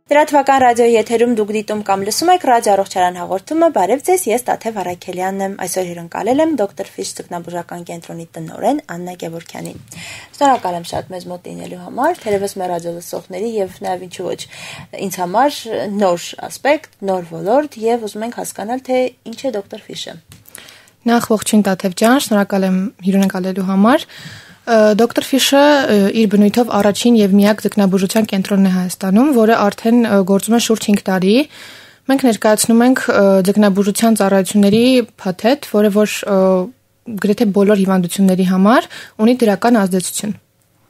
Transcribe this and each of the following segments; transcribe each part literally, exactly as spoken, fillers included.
Լրատվական ռադիոյի եթերում դուք դիտում կամ լսում եք ռադիո առողջարան հաղորդումը, բարև ձեզ, ես Տաթև Արաքելյանն եմ, այսօր հյուրընկալել եմ դոկտոր Ֆիշ ձկնաբուժական կենտրոնի տնօրեն Աննա Գևորգյանին։ Շնորհակալ եմ շատ մեզ մոտ լինելու համար, թերևս մեր ռադիո լսողների եւ նաեւ ինչու ոչ ինձ համար նոր ասպեկտ, նոր ոլորտ եւ ուզում ենք հասկանալ, թե ինչ է դոկտոր Ֆիշը։ Նախ ողջույն Տաթև ջան, շնորհակալ եմ հյուրընկալելու համար։ Դոկտոր Ֆիշը իր բնույթով առաջին եւ միակ ձկնաբուժության կենտրոնն է Հայաստանում, որը արդեն գործում է շուրջ հինգ տարի։ Մենք ներկայացնում ենք ձկնաբուժության ծառայությունների փաթեթ, որը որ գրեթե բոլոր հիվանդությունների համար ունի դրական ազդեցություն։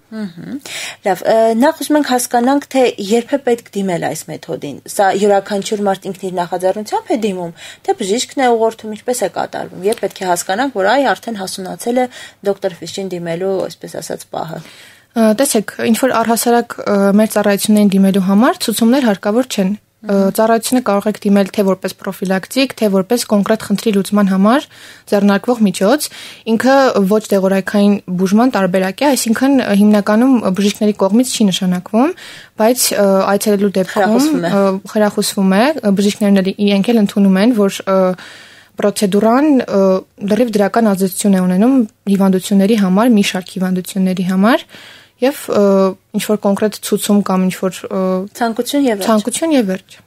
Լավ, նախ ուզում ենք հասկանանք, թե երբ է պետք դիմել այս մեթոդին։ Սա յուրաքանչյուր մարդ ինքն իր նախաձեռնությամբ է դիմում, թե բժիշկն է ուղղորդում, ինչպես է կատարվում։ Երբ պետք է հասկանանք, որ այ արդեն հասունացել է դոկտոր Ֆիշին դիմելու, այսպես ասած, պահը։ Տեսեք, ինչ որ առհասարակ մեր ծառայություններին դիմելու համար ցուցումներ հարկավոր չեն։ Ծառայությունը կարող եք դիմել թե որպես պրոֆիլակտիկ, թե որպես կոնկրետ խնդրի լուծման համար ձեռնարկվող միջոց։ Ինքը ոչ դեղորայքային բուժման տարբերակ է, այսինքն հիմնականում բժիշկների կողմից չի նշանակվում, բայց այցելելու դեպքում խրախուսվում է, բժիշկներն իրենք էլ ընդունում են, որ պրոցեդուրան լրիվ դրական ազդեցություն է ունենում հիվանդությունների համար, մի շարք հիվանդությունների համար։ Եվ ինչ որ կոնկրետ ցուցում կամ ինչ որ ցանկություն եւ վերջ։ Ցանկություն եւ վերջ։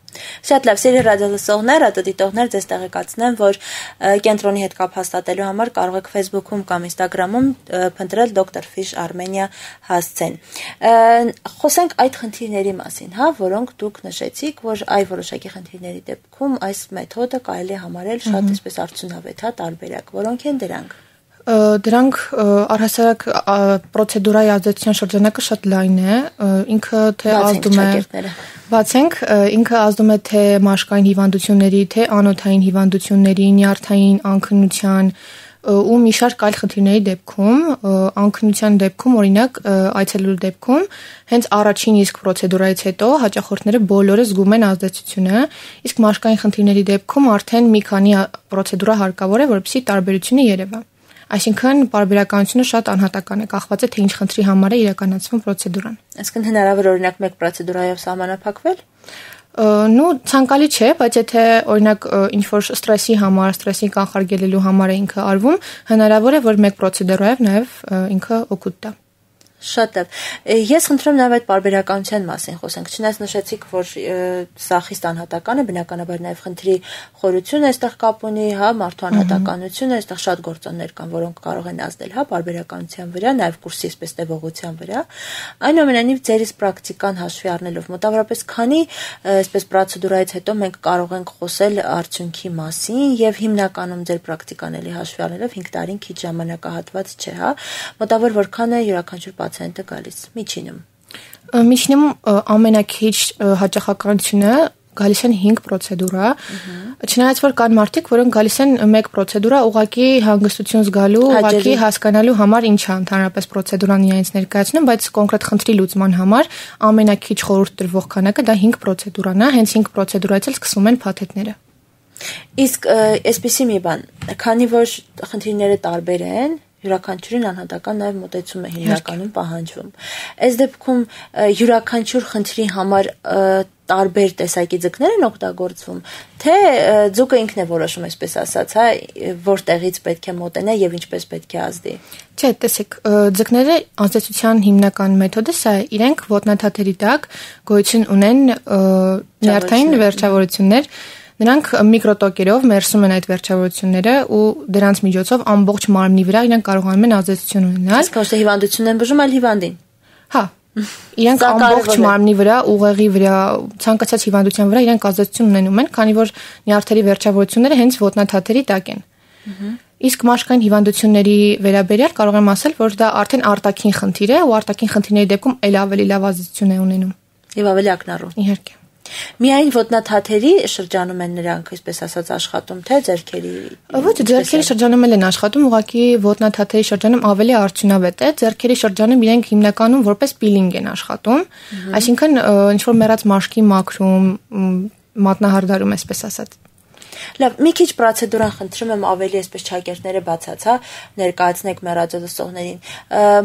Շատ լավ, սիրելի ռադիոլսողներ, ռադիոդիտողներ, ձեզ տեղեկացնեմ, որ կենտրոնի հետ կապ հաստատելու համար կարող եք Facebook-ում կամ Instagram-ում փնտրել դոկտոր Ֆիշ Armenia հասցեն։ Խոսենք այդ խնդիրների մասին, հա, որոնք դուք նշեցիք, որ այ որոշակի խնդիրների դեպքում այս մեթոդը կարելի է համարել շատ այսպես արդյունավետ, հա, տարբերակ։ Որոնք են դրանք։ Դրանք առհասարակ պրոցեդուրայի ազդեցության շրջանակը շատ լայն է, ինքը թե ազդում է բացենք, ինքը ազդում է թե մաշկային հիվանդությունների, թե անոթային հիվանդությունների, նյարդային անքնության ու մի շարք այլ խնդիրների դեպքում, անքնության դեպքում, օրինակ այցելելու դեպքում, հենց առաջին իսկ պրոցեդուրայից հետո հաճախորդները բոլորը զգում են ազդեցությունը, իսկ մաշկային խնդիրների դեպքում արդեն մի քանի պրոցեդուրա հարկավոր է, որպեսզի տարբերությունը երևա։ Այսինքն պարբերականությունը շատ անհատական է, կախված է թե ինչ խնդրի համար է իրականացվում պրոցեդուրան։ Այսինքն հնարավոր օրինակ մեկ պրոցեդուրայով սահմանափակվել։ Նու ցանկալի չէ, բայց եթե օրինակ ինչ որ ստրեսի համար, ստրեսի կանխարգելելու համար է ինքը արվում, հնարավոր է որ մեկ պրոցեդուրայով նաև ինքը օգուտ տա։ Շատ լավ։ Ես խնդրում եմ այդ պարբերականության մասին խոսենք։ Չնայած նշեցիք, որ սա խիստ անհատական է, բնականաբար նաև խնդրի խորությունը այստեղ կապ ունի, հա, մարդու անհատականությունը, այստեղ շատ գործոններ կան, որոնք կարող են ազդել, հա, պարբերականության վրա, նաև կուրսի այսպես տևողության վրա։ Այնուամենայնիվ ձերից պրակտիկան հաշվի առնելով մոտավորապես քանի այսպես պրոցեդուրայից հետո մենք կարող ենք խոսել արդյունքի մասին եւ հիմնականում ձեր պրակտիկան էլի հաշվի առնելով հինգ տարին քիչ ժամանակահատված չէ, հա։ Մոտավոր որքան է յուրաքանչյուր պացիենտը գալիս միջինում։ Միջինում ամենակիչ հաճախականությունը գալիս են հինգ պրոցեդուրա։ Չնայած որ կան մարդիկ, որոնք գալիս են մեկ պրոցեդուրա ուղղակի հանգստություն զգալու, ուղղակի հասկանալու համար ինչ է ընդհանրապես պրոցեդուրան իրենց ներկայացնում, բայց կոնկրետ խնդրի լուծման համար ամենակիչ խորհուրդ տրվող քանակը դա հինգ պրոցեդուրանն է, հենց հինգ պրոցեդուրայից էլ սկսվում են փաթեթները։ Իսկ այսպեսի մի բան, քանի որ խնդիրները տարբեր են, յուրաքանչյուրին անհատական նաև մոտեցում է հիմնականում պահանջվում։ Այս դեպքում յուրաքանչյուր խնդրի համար տարբեր տեսակի ձկներ են օգտագործվում, թե ձուկը ինքն է որոշում, այսպես ասած, հա, որտեղից պետք է մոտենա եւ ինչպես պետք է ազդի։ Չէ, տեսեք, ձկները ազդեցության հիմնական մեթոդը սա է, իրենք ոտնաթաթերի տակ գոյություն ունեն նյարդային վերջավորություններ։ Նրանք միկրոտոկերով մերսում են այդ վերջավորությունները ու դրանց միջոցով ամբողջ մարմնի վրա իրենք կարողանում են ազդեցություն ունենալ։ Իսկ ոչ թե հիվանդություն են բուժում, այլ հիվանդին։ Հա։ Իրենք ամբողջ մարմնի վրա, ուղեղի վրա, ցանկացած հիվանդության վրա իրենք ազդեցություն ունենում են, քանի որ նյարդերի վերջավորությունները հենց ոտնաթաթերի տակ են։ Իսկ մաշկային հիվանդությունների վերաբերյալ կարող եմ ասել, որ դա արդեն արտաքին խնդիր է ու արտաքին խնդիրների դեպքում ել ավելի լավ ազդեցություն է ունենում։ Եվ ավելի ակնառու։ Իհարկե։ Միայն ոտնաթաթերի շրջանում են նրանք, այսպես ասած, աշխատում, թե ձեռքերի։ Ոչ, ձեռքերի շրջանում են աշխատում, ուղղակի ոտնաթաթերի շրջանում ավելի արդյունավետ է, ձեռքերի շրջանում իրենք հիմնականում որպես պիլինգ են աշխատում, այսինքն ինչ որ մեռած մաշկի մաքրում, մատնահարդարում, այսպես ասած։ Լավ, մի քիչ պրոցեդուրան խնդրում եմ ավելի այսպես ճակերտները բացած, հա, ներկայացնեք մեր ռադիոլսողներին։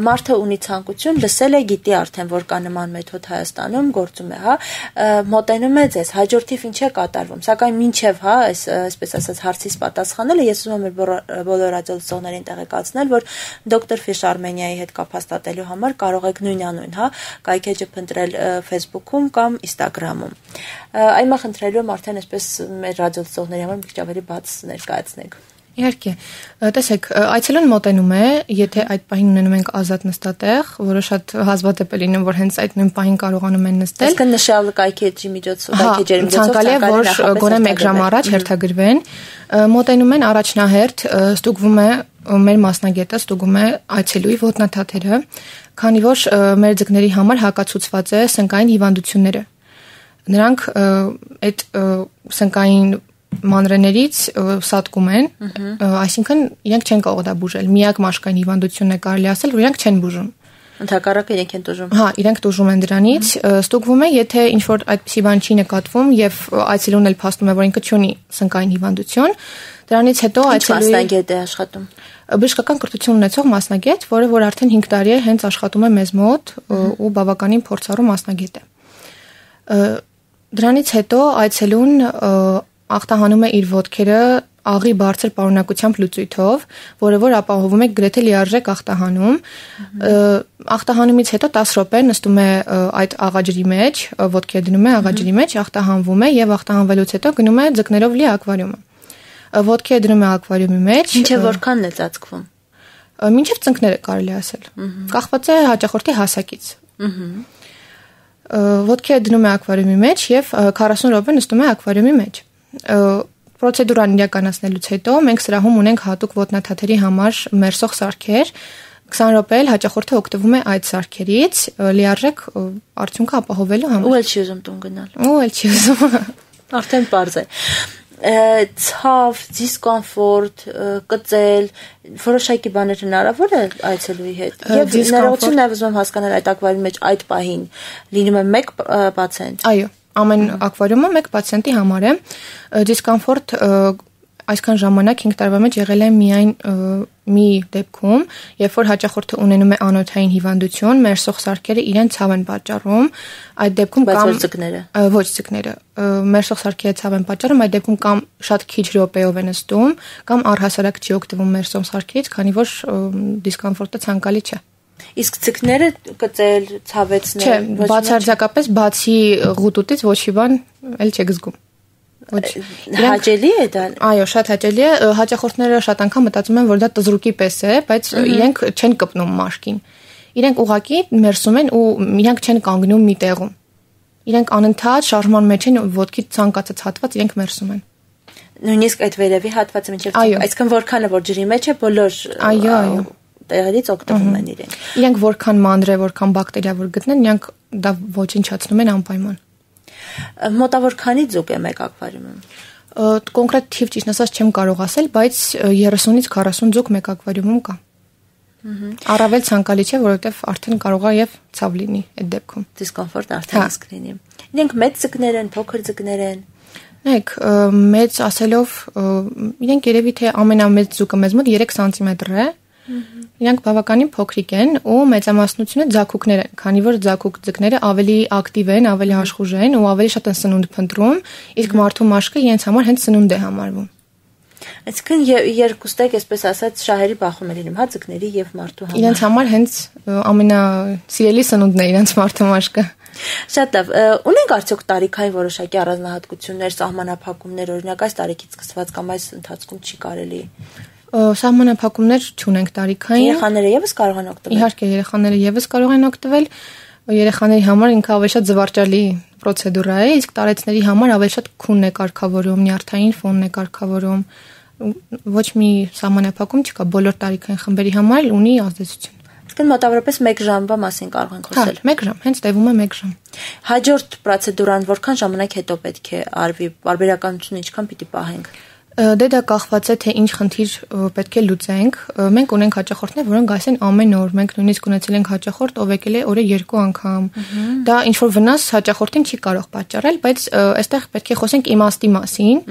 Մարդը ունի ցանկություն, լսել է, գիտի արդեն, որ կա նման մեթոդ Հայաստանում, գործում է, հա, մոտենում է ձեզ, հաջորդիվ ինչ է կատարվում։ Սակայն մինչև, հա, այս այսպես ասած հարցից պատասխանելը ես ուզում եմ բոլոր ռադիոլսողներին տեղեկացնել, որ դոկտոր Fish Armenia-ի հետ կապ հաստատելու համար կարող եք նույնանուն, հա, կայքեջը փնտրել Facebook-ում կամ Instagram-ում։ Այմա խնդրելու եմ արդեն այսպես մեր ռադիոլսողների համար մի քիչ ավելի բաց ներկայացնենք։ Իհարկե, տեսեք, այցելուն մոտենում է, եթե այդ պահին ունենում ենք ազատ նստատեղ, որը շատ հազվադեպ է լինում, որ հենց այդ նույն պահին կարողանում են նստել։ Այսինքն նշյալ կայքեջի միջոցով, կայքեջերի միջոցով ցանկալի է, որ գոնե մեկ ժամ առաջ հերթագրվեն, մոտենում են առաջնահերթ, ստուգվում է մեր մասնագետը ստուգում է այցելուի ոտնաթաթերը, քանի որ մեր ձկների համար հակացուցված է սնկային հիվանդությունները։ Նրանք այդ սնկային մանրեներից սատկում են, այսինքն իրենք չեն կարող դա բուժել։ Միակ մաշկային հիվանդությունն է կարելի ասել, որ իրենք չեն բուժում։ Ընդհակառակը իրենք են տուժում։ Հա, իրենք տուժում են դրանից, ստուգվում է, եթե ինչ-որ այդպիսի բան չի նկատվում եւ այցելուն էլ փաստում է, որ ինքը չունի սնկային հիվանդություն, դրանից հետո այցելուի մասնագետ է աշխատում։ Բժշկական կրթություն ունեցող մասնագետ, որը որ արդեն հինգ տարի է հենց աշխատում է մեզ մոտ ու բավականին փորձառու մասնագետ է։ Դրանից հետո այցելուն ախտահանում է իր ոտքերը աղի բարձր պարունակությամբ լուծույթով, որը որ ապահովում է գրեթե լիարժեք ախտահանում։ Ախտահանումից հետո տասը րոպե նստում է այդ աղաջրի մեջ, ոտքերը դնում է աղաջրի մեջ, ախտահանվում է եւ ախտահանվելուց հետո գնում է ձկներով լի ակվարիումը։ Ոտքերը դնում է ակվարիումի մեջ։ Ինչեւ որքանն է ծածկվում։ Մինչև ծնկները կարելի ասել։ Կախված է հաճախորդի հասակից։ Ոտքերը դնում է ակվարիումի մեջ եւ քառասուն րոպե նստում է ակվարիումի մեջ։ Պրոցեդուրան իրականացնելուց հետո մենք սրահում ունենք հատուկ ոտնաթաթերի համար մերսող սարքեր։ քսան րոպե էլ հաճախորդը օգտվում է այդ սարքերից լիարժեք արդյունքը ապահովելու համար։ Ու էլ չի ուզում տուն գնալ։ Ու էլ չի ուզում։ Արդեն պարզ է։ Ցավ, դիսկոմֆորտ, կծել, որոշակի բաներ հնարավոր է այցելուի հետ։ Եվ ներողություն նաև ուզում եմ հասկանալ այդ ակվարիումի մեջ այդ պահին լինում է մեկ պացիենտ։ Այո, ամեն ակվարիումը մեկ պացիենտի համար է։ Դիսկոմֆորտ այսքան ժամանակ հինգ տարվա մեջ եղել է միայն մի դեպքում, երբ որ հաճախորդը ունենում է անոթային հիվանդություն, մերսող սարքերը իրեն ցավ են պատճառում, այդ դեպքում կամ ձկները, ոչ ձկները, մերսող սարքերը ցավ են պատճառում, այդ դեպքում կամ շատ քիչ րոպեով են նստում, կամ առհասարակ չի օգտվում մերսող սարքերից, քանի որ դիսկոմֆորտը ցանկալի չէ։ Իսկ ձկները կծել, ցավեցնել, չէ, բացարձակապես բացի ղուտուտից ոչ մի բան էլ չեք զգում։ Հաճելի է դա։ Այո, շատ հաճելի է։ Հաճախորդները շատ անգամ մտածում են, որ դա տզրուկի պես է, բայց իրենք չեն կպնում մաշկին։ Իրենք ուղակի մերսում են ու իրենք չեն կանգնում մի տեղում։ Իրենք անընդհատ շարժման մեջ են, ոտքի ցանկացած հատված իրենք մերսում են։ Նույնիսկ այդ վերևի հատվածը մինչև այսքան որքանը որ ջրի մեջ է, բոլոր այո, այո տեղերից օգտվում են իրենք։ Իրենք որքան մանր է, որքան բակտերիա որ գտնեն, իրենք դա ոչնչացնում են անպայման։ Մոտավոր քանի ձուկ է մեկ ակվարիումում։ Կոնկրետ թիվ ճիշտ ասած չեմ կարող ասել, բայց երեսունից քառասուն ձուկ մեկ ակվարիումում կա։ Առավել ցանկալի չէ, որովհետև արդեն կարող է եւ ցավ լինի այդ դեպքում։ Դիսկոմֆորտ արդեն իսկ լինի։ Իրենք մեծ ձկներ են, փոքր ձկներ են։ Նայեք, մեծ ասելով, իրենք երևի թե ամենամեծ ձուկը մեզ մոտ երեք սանտիմետր է։ Իրանք բավականին փոքրիկ են ու մեծամասնությունը ձակուկներ են, քանի որ ձակուկ ձկները ավելի ակտիվ են, ավելի աշխուժ են ու ավելի շատ են սնունդ փնտրում, իսկ մարդու մաշկը իրենց համար հենց սնունդ է համարվում։ Այսինքն երկուստեք, այսպես ասած, շահերի բախում է լինում, հա, ձկների եւ մարդու համար։ Իրենց համար հենց ամենասիրելի սնունդն է իրենց մարդու մաշկը։ Շատ լավ։ Ունենք արդյոք տարիքային որոշակի առանձնահատկություններ, սահմանափակումներ, օրինակ այս տարիքից սկսված կամ այս ընթացքում չի կարելի։ Սահմանափակումներ չունենք տարիքային։ Երեխաները եւս կարող են օգտվել։ Իհարկե, երեխաները եւս կարող են օգտվել։ Երեխաների համար ինքը ավելի շատ զվարճալի պրոցեդուրա է, իսկ տարեցների համար ավելի շատ քունն է կարգավորում, նյարդային ֆոնն է կարգավորում։ Ոչ մի սահմանափակում չկա, բոլոր տարիքային խմբերի համար ունի ազդեցություն։ Այսինքն մոտավորապես մեկ ժամվա մասին կարող ենք խոսել։ Հա, մեկ ժամ, հենց տևում է մեկ ժամ։ Հաջորդ պրոցեդուրան որքան ժամանակ հետո պետք է արվի, բարբերականությունը ինչքան պիտի պահենք։ Դե դա կախված է թե ինչ խնդիր պետք է լուծենք։ Մենք ունենք հաճախորդներ, որոնք գալիս են ամեն օր։ Մենք նույնիսկ ունեցել ենք հաճախորդ, ով եկել է օրը երկու անգամ։ Դա ինչ որ վնաս հաճախորդին չի կարող պատճառել, բայց այստեղ պետք է խոսենք իմաստի մասին,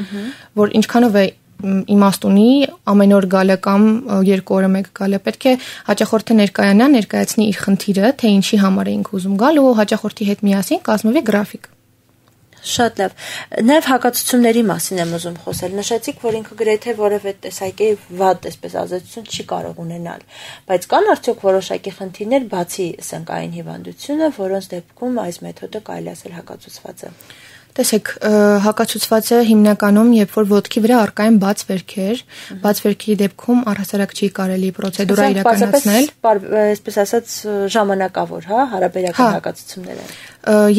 որ ինչքանով է իմաստ ունի ամեն օր գալը կամ երկու օրը մեկ գալը։ Պետք է հաճախորդը ներկայանա, ներկայացնի իր խնդիրը, թե ինչի համար էինք ուզում գալ ու հաճախորդի հետ միասին կազմվի գրաֆիկ։ Շատ լավ։ Նաև հակացությունների մասին եմ ուզում խոսել։ Նշեցիք, որ ինքը գրեթե որևէ տեսակի վատ, այսպես ազդեցություն չի կարող ունենալ, բայց կան արդյոք որոշակի խնդիրներ բացի սնկային հիվանդությունը, որոնց դեպքում այս մեթոդը կարելի ասել հակացուցված է։ Տեսեք, հակացուցված է հիմնականում, երբ որ ոտքի վրա առկա են բաց վերքեր, բաց վերքերի դեպքում առհասարակ չի կարելի պրոցեդուրա իրականացնել, այսպես ասած ժամանակավոր, հա, հարաբերական հակացությունները։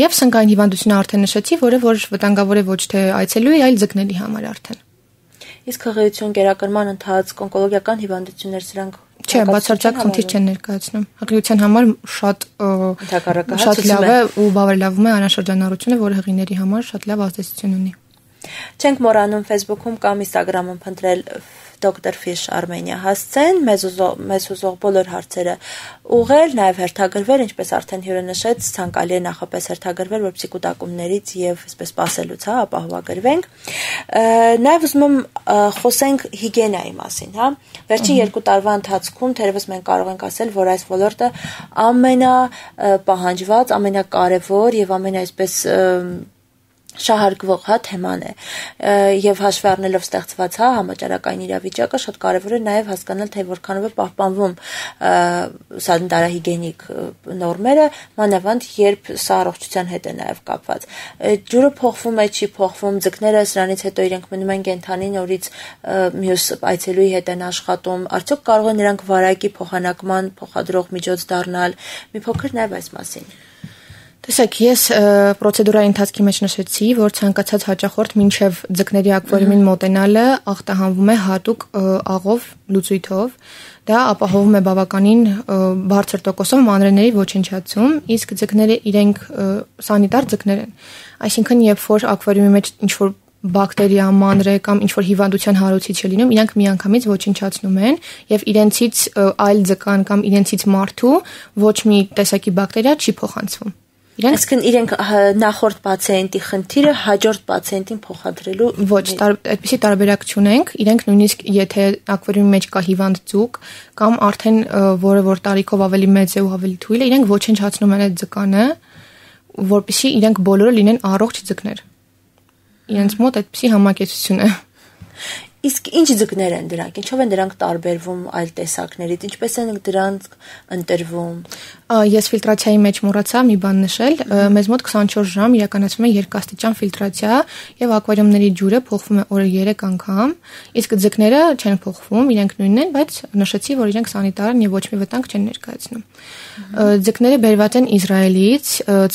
Եվ սնկային հիվանդությունը արդեն նշեցի, որը որ վտանգավոր է ոչ թե այցելուի, այլ ձկների համար արդեն։ Իսկ հղիություն, կերակրման ընթացք, օնկոլոգիական հիվանդություններ, սրանք Չէ, բացարձակ խնդիր չեն ներկայացնում։ Հղիության համար շատ շատ լավ է ու բավարարվում է անաշրջանառությունը, որը հղիների համար շատ լավ ազդեցություն ունի։ Չենք մոռանում Facebook-ում կամ Instagram-ում փնտրել Doctor Fish Armenia հասցեն, մեզ մեզ ուզող բոլոր հարցերը ուղղել, նաև հերթագրվել, ինչպես արդեն հյուրը նշեց, ցանկալի է նախապես հերթագրվել, որպեսզի կուտակումներից եւ այսպես սպասելուց, հա, ապահովագրվենք։ Նաև ուզում եմ խոսենք հիգիենայի մասին, հա։ Վերջին երկու տարվա ընթացքում թերևս մենք կարող ենք ասել, որ այս ոլորտը ամենապահանջված, ամենակարևոր եւ ամեն այսպես շահարկվող հա թեման է եւ հաշվի առնելով ստեղծված հա համաճարակային իրավիճակը շատ կարեւոր է նաեւ հասկանալ թե որքանով է պահպանվում սանիտարահիգիենիկ նորմերը մանավանդ երբ սա առողջության հետ է նաեւ կապված ջուրը փոխվում է չի փոխվում ձկները սրանից հետո իրենք մնում են կենթանի նորից մյուս այցելուի հետ են աշխատում արդյոք կարող են նրանք վարակի փոխանակման փոխադրող միջոց դառնալ մի փոքր նաեւ այս մասին Տեսեք, ես պրոցեդուրայի ընթացքի մեջ նշեցի, որ ցանկացած հաճախորդ մինչև ձկների ակվարիումին մոտենալը ախտահանվում է հատուկ աղով լուծույթով, դա ապահովում է բավականին բարձր տոկոսով մանրէների ոչնչացում, իսկ ձկները իրենք սանիտար ձկներ են, այսինքն երբ որ ակվարիումի մեջ ինչ-որ բակտերիա, մանրէ կամ ինչ-որ հիվանդության հարուցիչ է լինում, իրանք միանգամից ոչնչացնում են եւ իրենցից այլ ձկան կամ իրենցից մարդու ոչ մի տեսակի բակտերիա չի փոխանցվում Այսինքն իրենք նախորդ պացիենտի խնդիրը հաջորդ պացիենտին փոխադրելու ոչ, այդպիսի տարբերակ չունենք, իրենք նույնիսկ եթե ակվարիումի մեջ կա հիվանդ ձուկ կամ արդեն որը որ տարիքով ավելի մեծ է ու ավելի թույլ է, իրենք ոչնչացնում են այդ ձկանը, որպեսզի իրենք բոլորը լինեն առողջ ձկներ։ Իրենց մոտ այդպիսի համակեցություն է։ Իսկ ինչ ձկներ են դրանք, ինչով են դրանք տարբերվում այլ տեսակներից, ինչպես են դրանք ընտրվում։ Ես ֆիլտրացիայի մեջ մոռացա մի բան նշել, մեզ մոտ քսանչորս ժամ իրականացվում է երկաստիճան ֆիլտրացիա եւ ակվարիումների ջուրը փոխվում է օրը երեք անգամ, իսկ ձկները չեն փոխվում, իրենք նույնն են, բայց նշեցի, որ իրենք սանիտար են եւ ոչ մի վտանգ չեն ներկայացնում։ Ձկները բերված են Իսրայելից,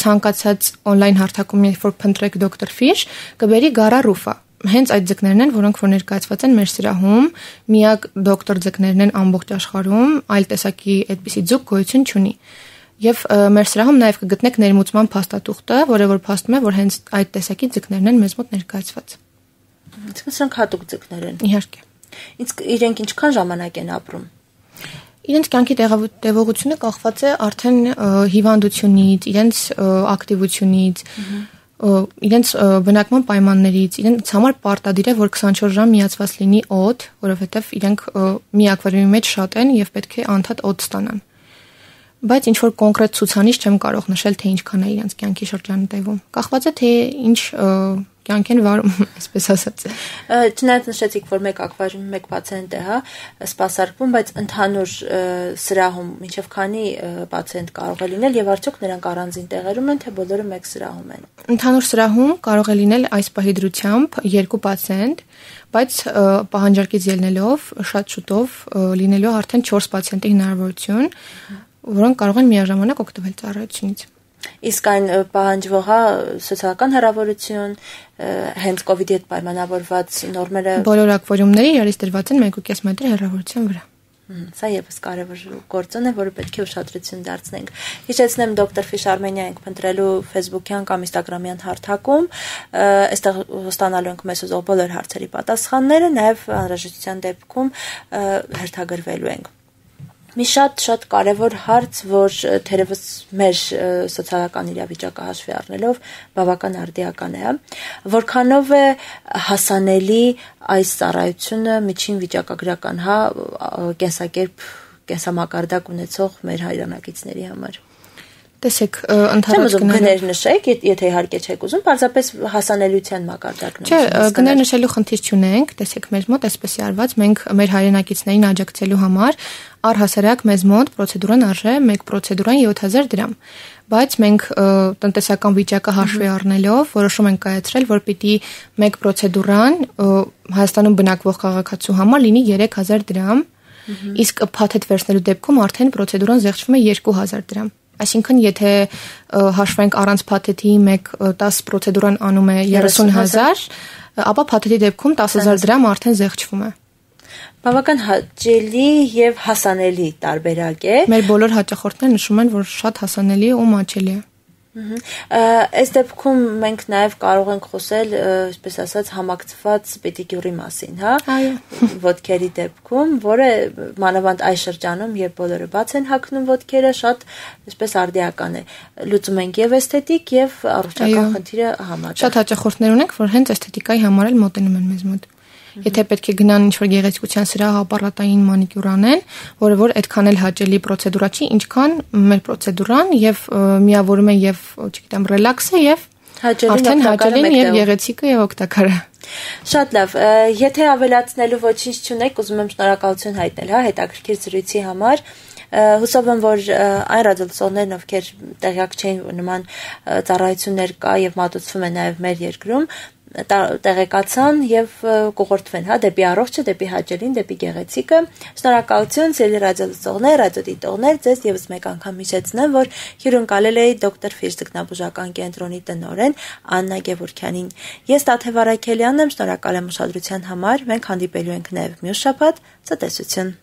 ցանկացած on-line հարթակում երբ որ փնտրեք Doctor Fish, կբերի Gara Rufa Հենց այդ ձկներն են, որոնք որ ներկայացված են մեր սրահում, միակ դոկտոր ձկներն են ամբողջ աշխարհում, այլ տեսակի այդպիսի ձուկ գոյություն չունի։ Եվ մեր սրահում նաև կգտնեք ներմուծման փաստաթուղթը, որը որ փաստում է, որ հենց այդ տեսակի ձկներն են մեզ մոտ ներկայացված։ Իսկ սրանք հատուկ ձկներ են։ Իհարկե։ Իսկ իրենք ինչքան ժամանակ են ապրում։ Իրենց կյանքի տևողությունը կախված է արդեն հիվանդությունից, իրենց ակտիվությունից, իրենց բնակման պայմաններից, իրենց համար պարտադիր է, որ քսանչորս ժամ միացված լինի օդ, որովհետև իրենք մի ակվարիումի մեջ շատ են եւ պետք է անդադ օդ ստանան։ Բայց ինչ որ կոնկրետ ցուցանիշ չեմ կարող նշել, թե ինչքան է իրենց կյանքի շրջանը տևում։ Կախված է թե ինչ կյանք են վարում, այսպես ասած։ Չնայած նշեցիք, որ մեկ ակվարիումի մեկ պացիենտ է, հա, սպասարկվում, բայց ընդհանուր սրահում մինչև քանի պացիենտ կարող է լինել եւ արդյոք նրանք առանձին տեղերում են, թե բոլորը մեկ սրահում են։ Ընդհանուր սրահում կարող է լինել այս պահի դրությամբ երկու պացիենտ, բայց պահանջարկից ելնելով շատ շուտով լինելու արդեն չորս պացիենտի հնարավորություն, որոնք կարող են միաժամանակ օգտվել ծառայությունից։ Իսկ այն պահանջվողա սոցիալական հեռավորություն, հենց կոവിഡ്ի հետ պայմանավորված նորմերը բոլոր ակվարիումները իրարից դրված են մեկ ու կես մետր հեռավորության վրա։ Սա եւս կարևոր գործոն է, որը պետք է ուշադրություն դարձնենք։ Հիշեցնեմ դոկտոր Ֆիշ Արմենիա ենք փնտրելու Facebook-յան կամ Instagram-յան հարթակում, այստեղ ստանալու ենք մեզ ուզող բոլոր հարցերի պատասխանները, նաեւ անհրաժեշտության դեպքում հերթագրվելու ենք։ Մի շատ-շատ կարևոր հարց, որ թերևս մեր սոցիալական իրավիճակը հաշվի առնելով բավական արդիական է, որքանով է հասանելի այս ծառայությունը միջին վիճակագրական, հա, կենսակերպ, կենսամակարդակ ունեցող մեր հայրենակիցների համար։ Տեսեք, ընդհանրապես գներ նշեք, եթե իհարկե չեք ուզում, պարզապես հասանելիության մակարդակն է։ Չէ, գներ նշելու խնդիր չունենք, տեսեք, մեր մոտ այսպես է արված, մենք մեր հայրենակիցներին աջակցելու համար առհասարակ մեզ մոտ պրոցեդուրան արժե մեկ պրոցեդուրան յոթ հազար դրամ, բայց մենք տնտեսական վիճակը հաշվի առնելով որոշում ենք կայացրել, որ պիտի մեկ պրոցեդուրան Հայաստանում բնակվող քաղաքացու համար լինի երեք հազար դրամ, իսկ փաթեթ վերցնելու դեպքում արդեն պրոցեդուրան զեղչվում է երկու հազար դրամ։ Այսինքն, եթե հաշվենք առանց փաթեթի մեկ տասը պրոցեդուրան անում է երեսուն հազար, ապա փաթեթի դեպքում տասը հազար դրամ արդեն զեղչվում է։ Բավական հաճելի եւ հասանելի տարբերակ է։ Մեր բոլոր հաճախորդները նշում են, որ շատ հասանելի է ու մաչելի է։ Այս դեպքում մենք նաև կարող ենք խոսել, այսպես ասած, համակցված պետիկյուրի մասին, հա, ոտքերի դեպքում, որը մանավանդ այս շրջանում, երբ բոլորը բաց են հագնում ոտքերը, շատ այսպես արդիական է։ Լուծում ենք եւ էսթետիկ եւ առողջական խնդիրը համատեղ։ Շատ հաճախորդներ ունենք, որ հենց էսթետիկայի համար էլ մոտենում են մեզ մոտ։ Եթե պետք է գնան ինչ-որ գեղեցկության սրահ ապարատային մանիկյուր անեն, որը որ այդքան էլ հաճելի պրոցեդուրա չի, ինչքան մեր պրոցեդուրան եւ միավորում է եւ, չգիտեմ, ռելաքսը եւ արդեն հաճելին եւ գեղեցիկը եւ օգտակարը։ Շատ լավ, եթե ավելացնելու ոչինչ չունեք, ուզում եմ շնորհակալություն հայտնել, հա, հետաքրքիր զրույցի համար։ Հուսով եմ, որ այն ռադիոլսողներն, ովքեր տեղյակ չէին, նման ծառայություններ կա եւ մատուցվում է նաեւ մեր երկրում, տեղեկացան եւ կուղղորդվեն, հա, դեպի առողջը, դեպի հաճելին, դեպի գեղեցիկը։ Շնորհակալություն, սիրելի ռադիոլսողներ, ռադիոդիտողներ, ձեզ եւս մեկ անգամ հիշեցնեմ, որ հյուրընկալել էի դոկտոր Ֆիշ ձկնաբուժական կենտրոնի տնօրեն Աննա Գևորգյանին։ Ես Տաթև Արաքելյանն եմ, շնորհակալ եմ ուշադրության համար։ Մենք հանդիպելու ենք նաեւ մյուս շաբաթ։ Ցտեսություն։